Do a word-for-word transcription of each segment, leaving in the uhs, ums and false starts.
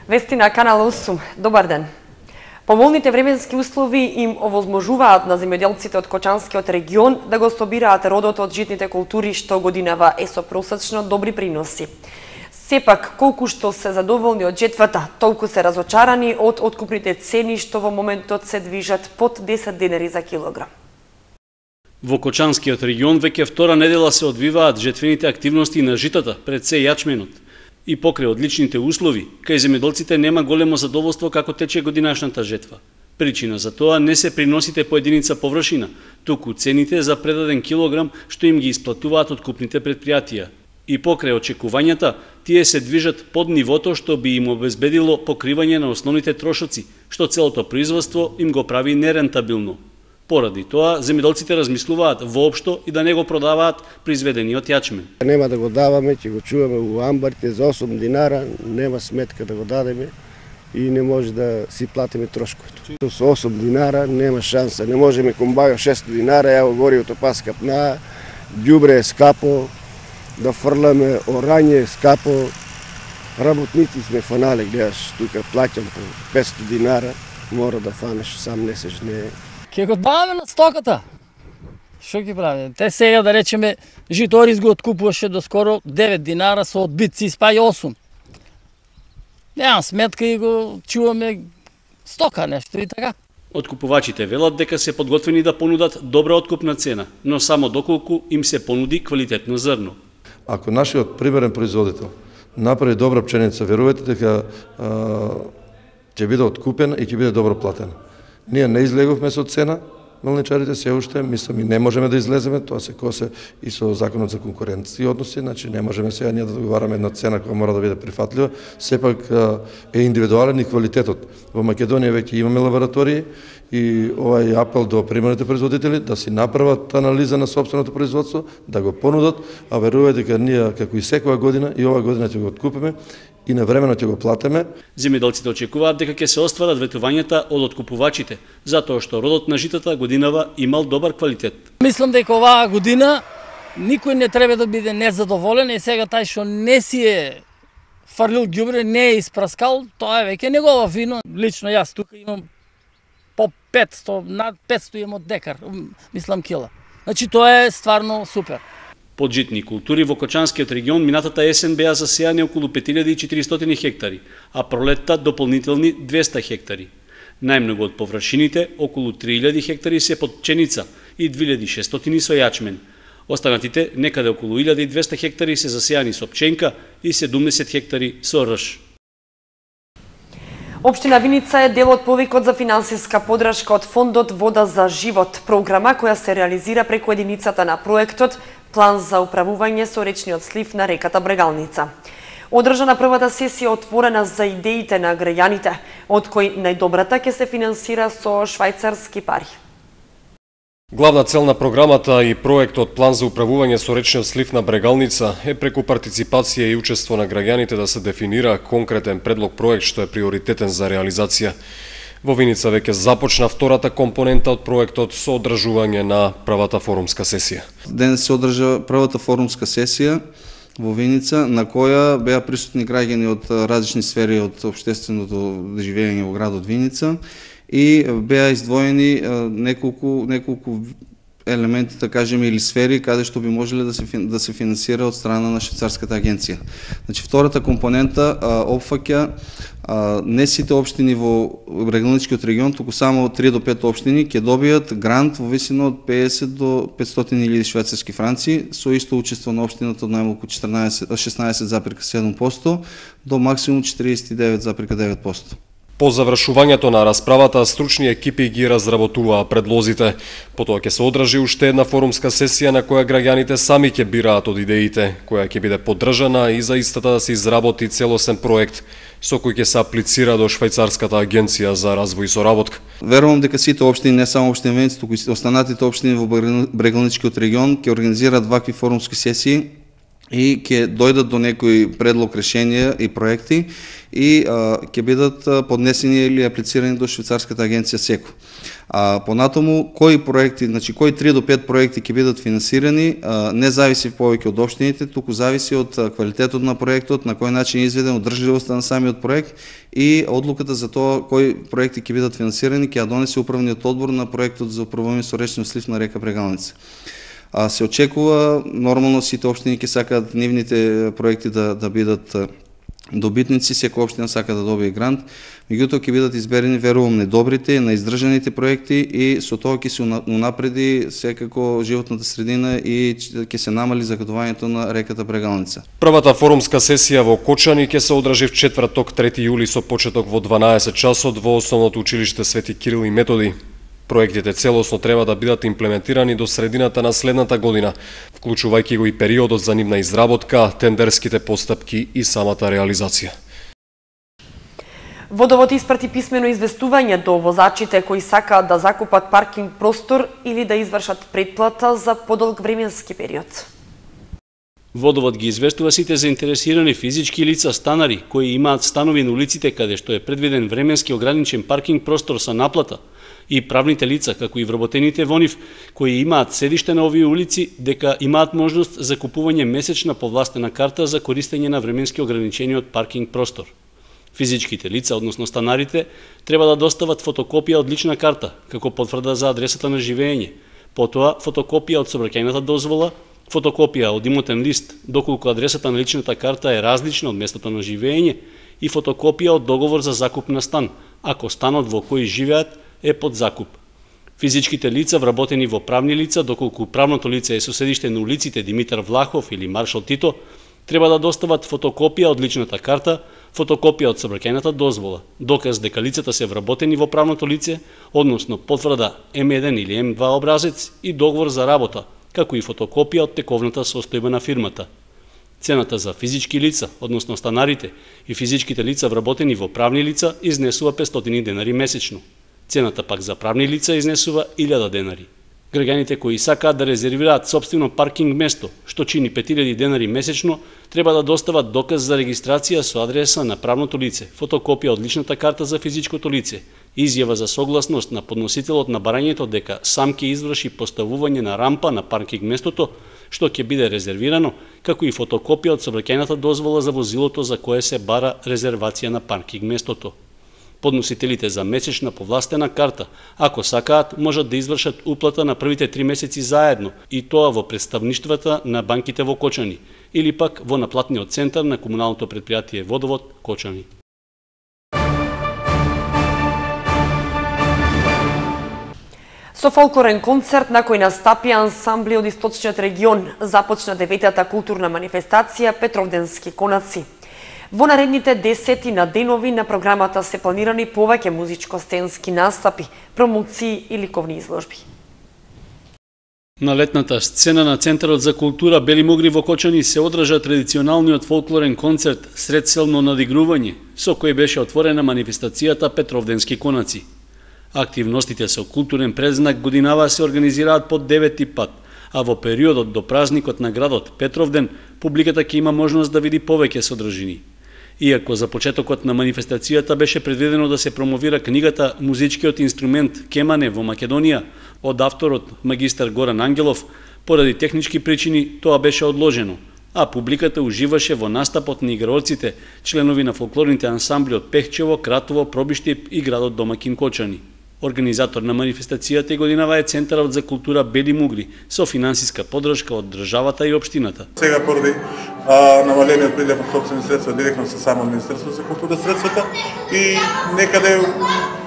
Вести на Канал осум. Добар ден. Поволните временски услови им овозможуваат на земјоделците од Кочанскиот регион да го собираат родот од житните култури што годинава е со просечно добри приноси. Сепак, колку што се задоволни од жетвата, толку се разочарани од откупните цени што во моментот се движат под десет денари за килограм. Во Кочанскиот регион веќе втора недела се одвиваат жетвените активности на житата, пред се јачменот. И покрај одличните услови, кај земјоделците нема големо задоволство како тече годинашната жетва. Причина за тоа не се приносите по единица површина, туку цените за предаден килограм што им ги исплатуваат откупните предпријатија. И покрај очекувањата, тие се движат под нивото што би им обезбедило покривање на основните трошоци, што целото производство им го прави нерентабилно. Поради тоа, земјоделците размислуваат воопшто и да не го продаваат произведениот јачмен. Нема да го даваме, ќе го чуваме у амбарите за осум динара, нема сметка да го дадеме и не може да си платиме трошковите. Со осум динара нема шанса, не можеме комбаја шест динара, ево гориото пас капна, ѓубре е скапо, да фрламе орање е скапо, работници сме фанале, гледаш, тука плаќам по петсто динара, мора да фанеш, сам не се жне. Ке го даваме на стоката. Што ќе правиме? Те сега да речеме житорис го откупуваше до скоро девет динара со одбитци спај осум. Немам сметка и го чуваме стока нешто и така. Откупувачите велат дека се подготвени да понудат добра откупна цена, но само доколку им се понуди квалитетно зрно. Ако нашиот примерен производител направи добра пченица, верувате дека ќе биде откупена и ќе биде добро платена. Ние не излеговме со цена, мелничарите се уште, мислам и не можеме да излеземе, тоа се косе и со законот за конкуренција односи, значи не можеме сега ние да договараме една цена која мора да биде прифатлива, сепак е индивидуален и квалитетот. Во Македонија веќе имаме лаборатории и овај апел до примерните производители да си направат анализа на сопственото производство, да го понудат, а верувајте дека ние како и секоја година и оваа година ќе го откупиме и навремено ќе го платиме. Земјоделците очекуваат дека ќе се остварат ветувањата од откупувачите, затоа што родот на житата годинава имал добар квалитет. Мислам дека оваа година никој не треба да биде незадоволен и сега тај што не си е фрлил ѓубре, не е испраскал, тоа е веќе негова вино. Лично јас тука имам по петсто, над петсто имам од декар, мислам кила. Значи тоа е стварно супер. Под житни култури во Кочанскиот регион минатата есен беа засејани околу пет илјади и четиристотини хектари, а пролетта дополнителни двеста хектари. Најмногу од површините, околу три илјади хектари се под пченица и две илјади и шестстотини со јачмен. Останатите, некаде околу илјада и двесте хектари се засејани со пченка и седумдесет хектари со рж. Општина Виница е дел од повикот за финансиска подршка од фондот Вода за живот, програма која се реализира преку единицата на проектот План за управување со речниот слив на реката Брегалница. Одржана првата сесија отворена за идеите на граѓаните, од кои најдобрата ќе се финансира со швајцарски пари. Главна цел на програмата и проектот План за управување со речниот слив на Брегалница е преку партиципација и учество на граѓаните да се дефинира конкретен предлог проект што е приоритетен за реализација. Во Виница веќе започна втората компонента од проектот со одржување на првата форумска сесија. Денес се одржа првата форумска сесија во Виница, на која беа присутни граѓани од различни сфери од општественото живење во градот Виница и беа издвоени неколку неколку елементи, да кажеме, или сфери каде што би можеле да се да се финансира од страна на швајцарската агенција. Значи втората компонента опфаќа не сите општини во Брегалничкиот регион, туку само три до пет општини ќе добијат грант во висина од педесет до петстотини илјади швајцарски франци со исто учество на општината од најмалку шеснаесет зарез и седум проценти до максимум четириесет и девет зарез и девет проценти. По завршувањето на расправата, стручни екипи ги разработуваа предлозите. Потоа ќе се одржи уште една форумска сесија на која граѓаните сами ќе бираат од идеите, која ќе биде поддржана и за истата да се изработи целосен проект со кој ќе се аплицира до швајцарската агенција за развој и соработка. Верувам дека сите општини, не само општина Виница, туку и останатите општини во Брегалничкиот регион ќе организираат вакви форумски сесии и ќе дојдат до некои предлог решенија и проекти и а, ќе бидат поднесени или аплицирани до швајцарската агенција СЕКО. А понатаму кои проекти, значи кои три до пет проекти ќе бидат финансирани, а, не зависи повеќе од општините, туку зависи од квалитетот на проектот, на кој начин е изведен, одржливоста на самиот проект и одлуката за тоа кои проекти ќе бидат финансирани ќе ја донесе управниот одбор на проектот за управување со речниот слив на река Брегалница. А се очекува, нормално сите општини ќе сакаат нивните проекти да, да бидат добитници, секоја општина сака да добие грант, меѓутоа ќе бидат изберени, верувам, најдобрите, најиздржаните проекти и со тоа ќе се унапреди секако животната средина и ќе се намали загадувањето на реката Брегалница. Првата форумска сесија во Кочани ќе се одржи в четврток трети јули со почеток во дванаесет часот во Основното училиште Свети Кирил и Методи. Проектите целосно треба да бидат имплементирани до средината на следната година, вклучувајќи го и периодот за нивна изработка, тендерските постапки и самата реализација. Водовод испрати писмено известување до возачите кои сакаат да закупат паркинг простор или да извршат претплата за подолг временски период. Водовод ги известува сите заинтересирани физички лица станари кои имаат станови на улиците каде што е предвиден временски ограничен паркинг простор со наплата и правните лица, како и вработените во нив, кои имаат седиште на овие улици, дека имаат можност за купување месечна повластена карта за користење на временски ограничениот паркинг простор. Физичките лица, односно станарите, треба да достават фотокопија од лична карта, како потврда за адресата на живење, потоа фотокопија од сообраќајната дозвола, фотокопија од имотен лист, доколку адресата на личната карта е различна од местото на живење, и фотокопија од договор за закуп на стан, ако станот во кој живеат е под закуп. Физичките лица вработени во правни лица, доколку правното лице е со седиште на улиците Димитар Влахов или Маршал Тито, треба да достават фотокопија од личната карта, фотокопија од сообраќајната дозвола, доказ дека лицата се вработени во правното лице, односно потврда М еден или М два образец и договор за работа, како и фотокопија од тековната состојба на фирмата. Цената за физички лица, односно станарите и физичките лица вработени во правни лица изнесува петстотини денари месечно. Цената пак за правни лица изнесува илјада денари. Граѓаните кои сакаат да резервираат сопствено паркинг место, што чини пет илјади денари месечно, треба да достават доказ за регистрација со адреса на правното лице, фотокопија од личната карта за физичкото лице, изјава за согласност на подносителот на барањето дека сам ќе изврши поставување на рампа на паркинг местото, што ќе биде резервирано, како и фотокопија од сообраќајната дозвола за возилото за кое се бара резервација на паркинг местото. Подносителите за месечна повластена карта, ако сакаат, можат да извршат уплата на првите три месеци заедно, и тоа во представништвата на банките во Кочани, или пак во наплатниот центар на комуналното предпријатие Водовод Кочани. Со фолклорен концерт на кој настапи ансамбли од источниот регион, започна деветата културна манифестација Петровденски конаци. Во наредните десетина денови на програмата се планирани повеќе музичко-сценски настапи, промоции и ликовни изложби. На летната сцена на Центарот за култура Бели Мугри во Кочани се одржа традиционалниот фолклорен концерт Средселно надигрување, со кој беше отворена манифестацијата Петровденски конаци. Активностите со културен предзнак годинава се организираат по девети пат, а во периодот до празникот на градот Петровден, публиката ќе има можност да види повеќе содржини. Иако за почетокот на манифестацијата беше предвидено да се промовира книгата Музичкиот инструмент Кемане во Македонија од авторот магистар Горан Ангелов, поради технички причини тоа беше одложено, а публиката уживаше во настапот на играорците, членови на фолклорните ансамбли од Пехчево, Кратово, Пробиштип и градот домакин Кочани. Организатор на манифестацијата и годинава е Центарот за култура Бели Мугри, со финансиска поддршка од државата и општината. Сега поради а, намалениот прилив од сопствени средства директно со само Министерството за култура средствата и некаде,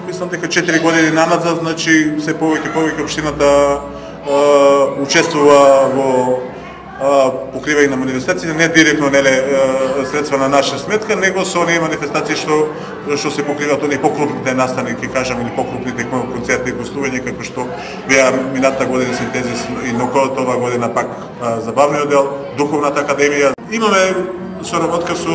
мислам дека четири години наназад, значи се повеќе повеќе општината а, учествува во покривање на манифестациите, не директно неле средства на наша сметка, него со оние манифестации што што се покриваат оние покрупните настани, ќе кажам, или покрупните концерти и гостувања, како што беа минатата година Синтезис и ноколот ова година пак забавниот дел, Духовната академија. Имаме соработка со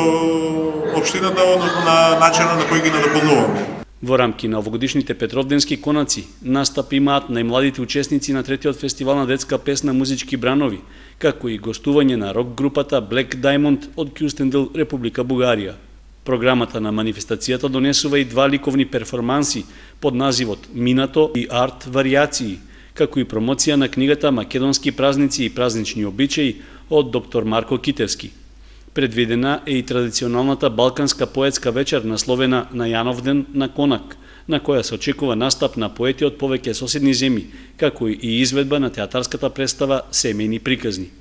општината, односно на начинот на кој ги надополнуваме. Во рамки на овогодишните Петровденски конаци настап имаат најмладите учесници на третиот фестивал на детска песна Музички бранови, како и гостување на рок групата Black Diamond од Кюстендил, Република Бугарија. Програмата на манифестацијата донесува и два ликовни перформанси под називот Минато и Арт варијации, како и промоција на книгата Македонски празници и празнични обичаи од доктор Марко Китевски. Предвидена е и традиционалната балканска поетска вечер насловена на Јановден на Конак, на која се очекува настап на поети од повеќе соседни земји, како и изведба на театарската представа Семејни приказни.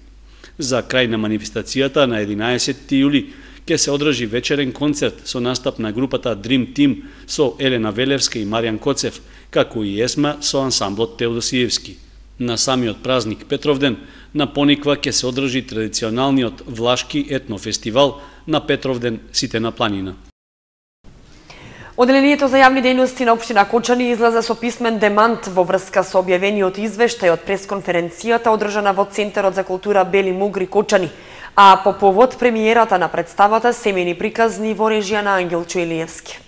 За крај на манифестацијата на единаесетти јули ќе се одржи вечерен концерт со настап на групата Dream Team со Елена Велевска и Маријан Коцев, како и есма со ансамблот Теодосиевски. На самиот празник Петровден на Пониква ќе се одржи традиционалниот влашки етнофестивал на Петровден Сите на планина. Оделението за јавни дејности на општина Кочани излезе со писмен демант во врска со објавениот извештај од пресконференцијата одржана во Центарот за култура Бели Мугри Кочани, а по повод премиерата на представата Семејни приказни во режија на Ангел Чуелиевски.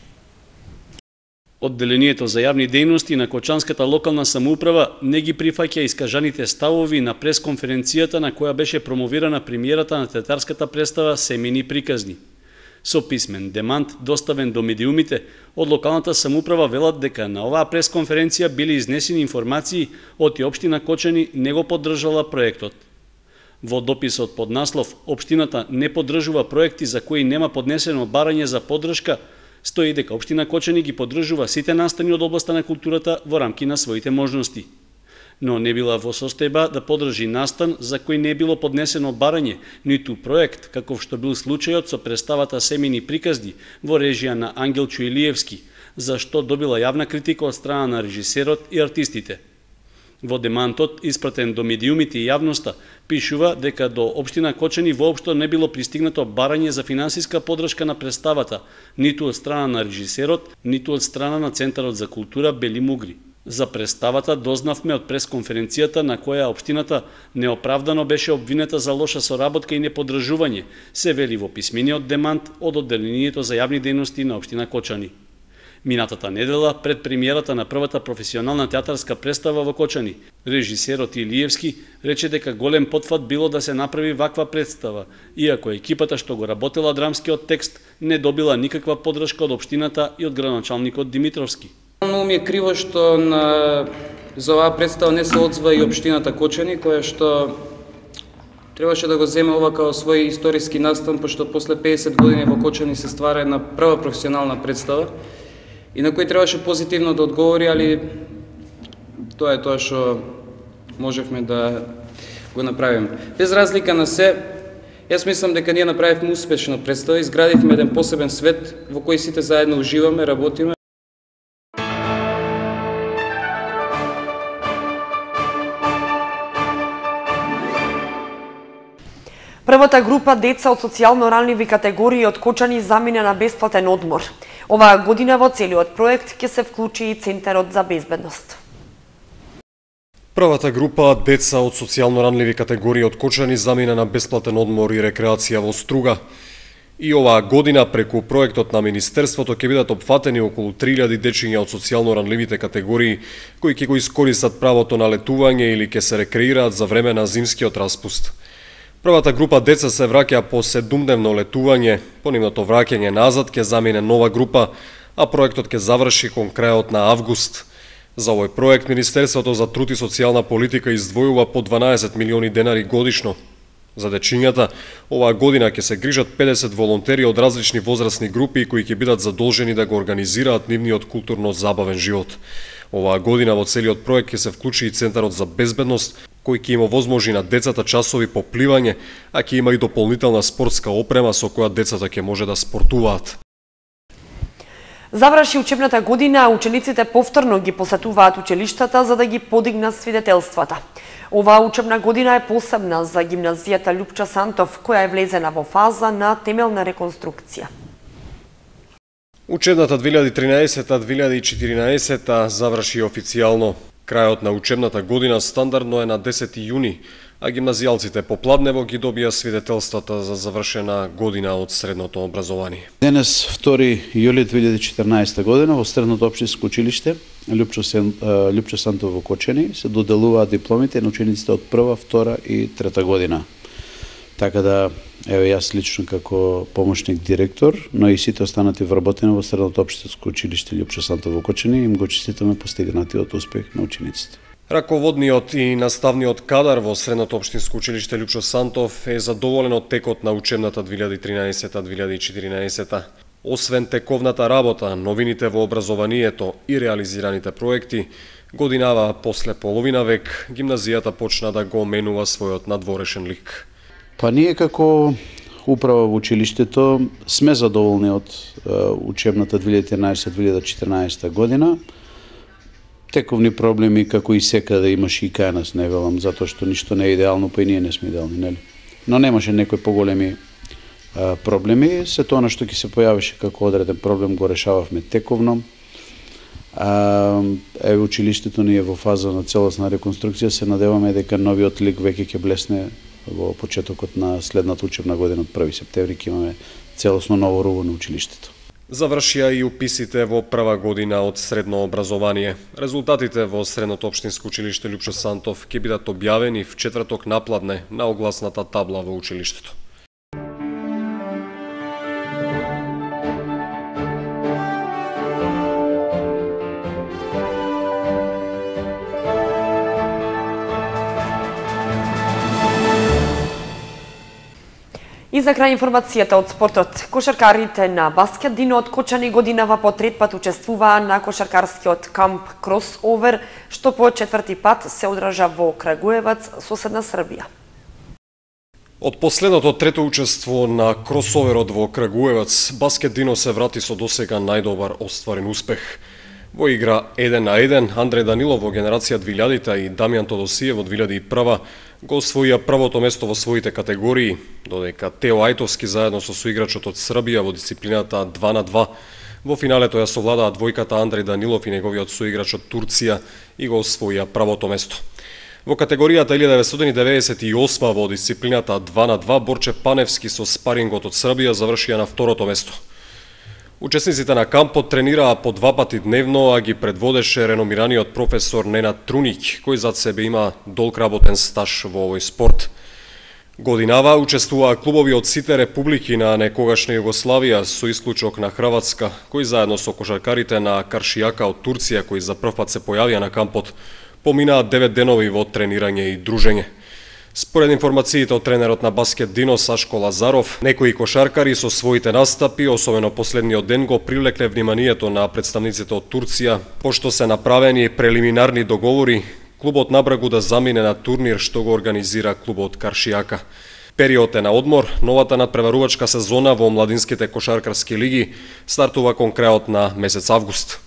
Одделението за јавни дејности на Кочанската локална самоуправа не ги прифаќа искажаните ставови на пресконференцијата на која беше промовирана премиерата на театарската представа Семејни приказни. Со писмен демант доставен до медиумите од локалната самоуправа велат дека на оваа пресконференција били изнесени информации од и општина Кочани не го поддржала проектот. Во дописот под наслов "Општината не поддржува проекти за кои нема поднесено барање за поддршка", стои дека општина Кочани ги поддржува сите настани од областа на културата во рамки на своите можности, но не била во состојба да поддржи настан за кој не било поднесено барање, ниту проект, каков што бил случајот со представата Семејни приказни во режија на Ангел Чуелиевски, за што добила јавна критика од страна на режисерот и артистите. Во демантот, испратен до медиумите и јавноста, пишува дека до општина Кочани воопшто не било пристигнато барање за финансиска поддршка на представата, ниту од страна на режисерот, ниту од страна на Центарот за култура Бели Мугри. За представата дознавме од пресконференцијата на која општината неоправдано беше обвинета за лоша соработка и неподдржување, се вели во писмениот демант од Одделението за јавни дејности на општина Кочани. Минатата недела, пред премиерата на првата професионална театарска представа во Кочани, режисерот Илиевски рече дека голем потфат било да се направи ваква представа, иако екипата што го работела драмскиот текст не добила никаква поддршка од општината и од градоначалникот Димитровски. Многу ми е криво што на за оваа представа не се одзва и општината Кочани, која што требаше да го земе ова како свој историски настан, пошто после педесет години во Кочани се ствара една прва професионална представа и на кој требаше позитивно да одговори, али тоа е тоа што можевме да го направиме. Без разлика на се, јас мислам дека ние направивме успешна представа, изградивме еден посебен свет во кој сите заедно уживаме, работиме. Првата група деца од социјално ранливи категории од Кочани замина на бесплатен одмор. Оваа година во целиот проект ќе се вклучи и Центарот за безбедност. Првата група деца од социјално ранливи категории од Кочани замина на бесплатен одмор и рекреација во Струга. И оваа година преку проектот на Министерството ќе бидат опфатени околу три илјади дечиња од социјално ранливите категории кои ќе го искористат правото на летување или ќе се рекреираат за време на зимскиот распуст. Првата група деца се враќа по седумдневно летување, по нивното враќање назад ќе замине нова група, а проектот ќе заврши кон крајот на август. За овој проект Министерството за труд и социјална политика издвојува по дванаесет милиони денари годишно. За дечињата, оваа година ќе се грижат педесет волонтери од различни возрастни групи кои ќе бидат задолжени да го организираат нивниот културно-забавен живот. Оваа година во целиот проект ќе се вклучи и Центарот за безбедност, кој ќе им овозможи на децата часови по пливање, а ќе има и дополнителна спортска опрема со која децата ќе може да спортуваат. Заврши учебната година, учениците повторно ги посетуваат училиштата за да ги подигнат свидетелствата. Оваа учебна година е посебна за гимназијата Љупча Сантов, која е влезена во фаза на темелна реконструкција. Учебната две илјади и тринаесета две илјади и четиринаесета заврши официјално. Крајот на учебната година стандардно е на десети јуни, а гимназијалците по Пладнево ги добија свидетелствата за завршена година од средното образование. Денес, втори јули две илјади и четрнаесета година, во Средното општинско училиште Лјупчо, Сен, Лјупчо Сантов во Кочани се доделуваат дипломите на учениците од прва, втора и трета година. Така да, ево јас лично како помошник директор, но и сите останати вработени во Средното општинско училиште Лјупчо Сантов во Кочани, им го честитаме постигнатиот успех на учениците. Раководниот и наставниот кадар во Средното општинско училиште Лјупчо Сантов е задоволен од текот на учебната две илјади и тринаесета две илјади и четиринаесета. Освен тековната работа, новините во образованието и реализираните проекти, годинава после половина век, гимназијата почна да го менува својот надворешен лик. Па ние како управа во училиштето сме задоволни од учебната две илјади и тринаесета две илјади и четиринаесета година. Тековни проблеми како и секаде имаше и кај нас, не велам, затоа што ништо не е идеално, па и ние не сме идеални, нели? Но немаше некои поголеми а, проблеми, се тоа на што ќе се појавише како одреден проблем го решававме тековно. А, е училиштето ни е во фаза на целосна реконструкција, се надеваме дека новиот лик веќе ќе блесне во почетокот на следната учебна година од први септември, ќе имаме целосно ново руво на училиштето. Завршија и уписите во прва година од средно образование. Резултатите во Средното општинско училиште Лјупчо Сантов ќе бидат објавени в четврток напладне на огласната табла во училиштето. И за крај информацијата од спортот. Кошаркарите на Баскет Дино од Кочани годинава по трет пат учествуваа на кошаркарскиот камп Кросовер, што по четврти пат се одржа во Крагуевац, соседна Србија. Од последното трето учество на Кросоверот во Крагуевац, Баскет Дино се врати со досега најдобар остварен успех. Во игра еден на еден, Андреј Данилов во генерација две илјадите и Дамјан Тодосиев во две илјади и прва го освоија првото место во своите категории, додека Тео Ајтовски заедно со соиграчот од Србија во дисциплината два на два во финалето ја совладаа двојката Андреј Данилов и неговиот соиграч од Турција и го освоија првото место. Во категоријата илјада деветстотини деветдесет и осма во дисциплината два на два Борче Паневски со спарингот од Србија завршија на второто место. Учесниците на кампот тренираа по два пати дневно, а ги предводеше реномираниот професор Ненад Труник, кој зад себе има долг работен стаж во овој спорт. Годинава учествуваа клубови од сите републики на некогашна Југославија, со исклучок на Хрватска, кој заедно со кошаркарите на Каршијака од Турција, кои за прв пат се појавија на кампот, поминаа девет денови во тренирање и дружење. Според информациите од тренерот на Баскет Дино Сашко Лазаров, некои кошаркари со своите настапи, особено последниот ден, го привлекле вниманието на представниците од Турција, пошто се направени прелиминарни договори клубот на Брагу да замине на турнир што го организира клубот Каршијака. Период е на одмор, новата надпреварувачка сезона во младинските кошаркарски лиги стартува кон крајот на месец август.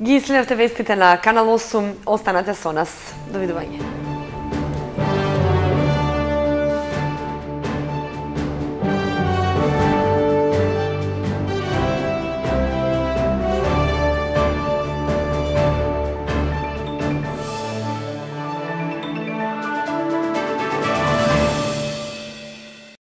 Ги следете вестите на Канал осум, останете со нас. Довидување.